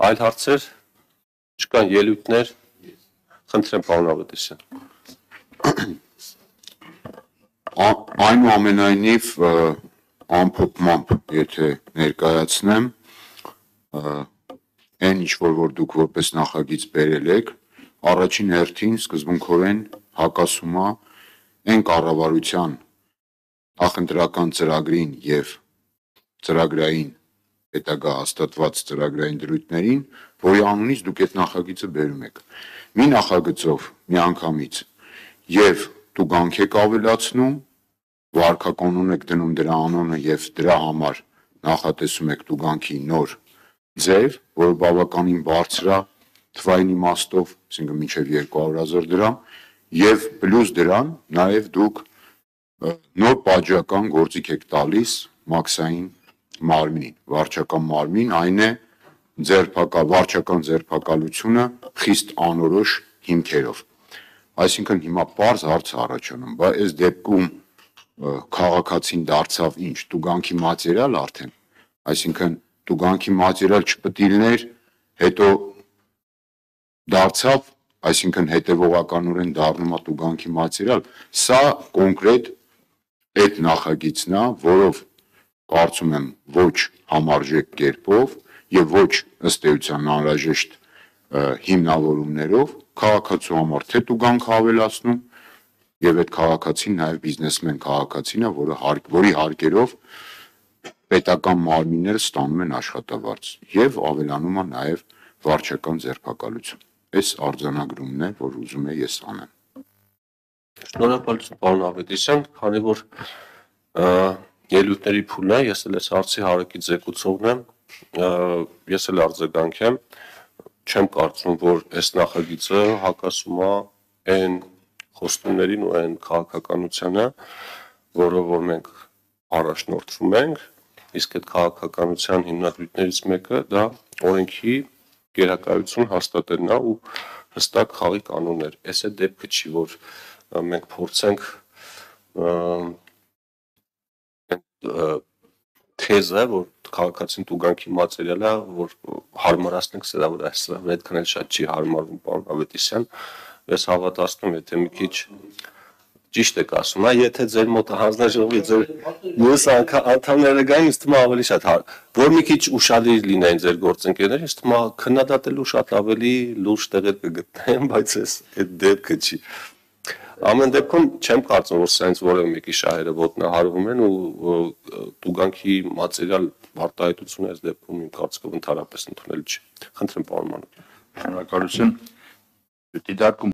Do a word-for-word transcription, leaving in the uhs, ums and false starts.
Այլ հարցեր, չկան ելույթներ, խնդրեմ պարոն Ավետիսյան։ Այնուամենայնիվ ամփոփմամբ, եթե ներկայացնեմ, այն ինչ որ դուք որպես նախագիծ բերել եք, առաջին հերթին սկզբունքորեն հակասում է այն կառավարության նախընտրական ծրագրին եւ ծրագրային հետագա հաստատված ծրագրային դրույթներին, որի անունից դուք այդ նախագիծը բերում եք։ Մի նախագծով միանգամից եւ տուգանք եք ավելացնում, վարքականոն եք դնում դրա անունը եւ դրա համար նախատեսում եք տուգանքի նոր ձև, որը բավականին բարձր է թվային իմաստով, այսինքն մինչև երկու հարյուր հազար դրամ, եւ պլյուս դրան նաեւ դուք նոր պատժական գործիք եք տալիս մաքսային մարմնին, վարչական մարմին, այն է վարչական ձերբակալությունը խիստ անորոշ հիմքերով։ Այսինքն հիմա պարզ հարց առաջանում, բա այս դեպքում քաղաքացին դարձավ ինչ, տուգանքի մատերիալ արդեն, այսինքն տուգանքի մատերիալ չպետք է լիներ, հետո դարձավ, այսինքն հետևողականորեն դառնում է տուգանքի մատերիալ, սա կոնկրետ այդ նախագիծն է, որով կարծում եմ ոչ համարժեք կերպով եւ ոչ ըստ էության անհրաժեշտ հիմնավորումներով քաղաքացու համար թե տուգանք ավելացնում եւ այդ քաղաքացին նաեւ բիզնեսմեն քաղաքացին է, որը որի հարկերով պետական մարմինները ստանում են աշխատավարձ եւ ավելանում է նաեւ վարչական ձերբակալություն։ Այս արձանագրումն է, որ ուզում եմ ես անեմ։ Շնորհակալություն պարոն Ավետիսյան, քանի որ ելույթների փուլն է, ես էլ այս հարցի հարակի ձեկուցողն եմ, ես էլ արձագանքեմ, չեմ կարծում, որ այս նախագիծը հակասում է այն խոստումներին ու այն քաղաքականությանը, որով որ մենք առաջնորդվում ենք, իսկ այդ քաղաքականության հիմնադրույթներից մեկը դա օրենքի գերակայություն հաստատելն է ու հստակ խաղի կանոններ։ Այս է դեպքը չի, որ մենք փորձենք թեզը, որ քաղաքացին տուգանքի մատերիալ է, որ հարմարացնենք սրա վրա, սրա վրա այդքան էլ շատ չի հարմարվում պարոն Ավետիսյան, ես հավատացնում, եթե մի քիչ ճիշտ եք ասում, եթե ձեր մոտ հանձնաժողովի ձեր մյուս անդամները գային, ինձ թվում է ավելի շատ, որ մի քիչ ուշադիր լինեն ձեր գործընկերները, ինձ թվում է քննադատելու շատ ավելի լուրջ տեղեր կգտնեն, բայց այս այդ դեպքը չի։ Ամեն դեպքում չեմ կարծում, որ սենց որևէ մեկի շահերը ոտնահարվում են ու տուգանքի մատերիալ արտահայտությունը այս դեպքում իմ կարծիքով ընդհանրապես ընդունել չի։ Խնդրեմ պարոն Մանուկյան։ Շնորհակալություն։ Դիտարկում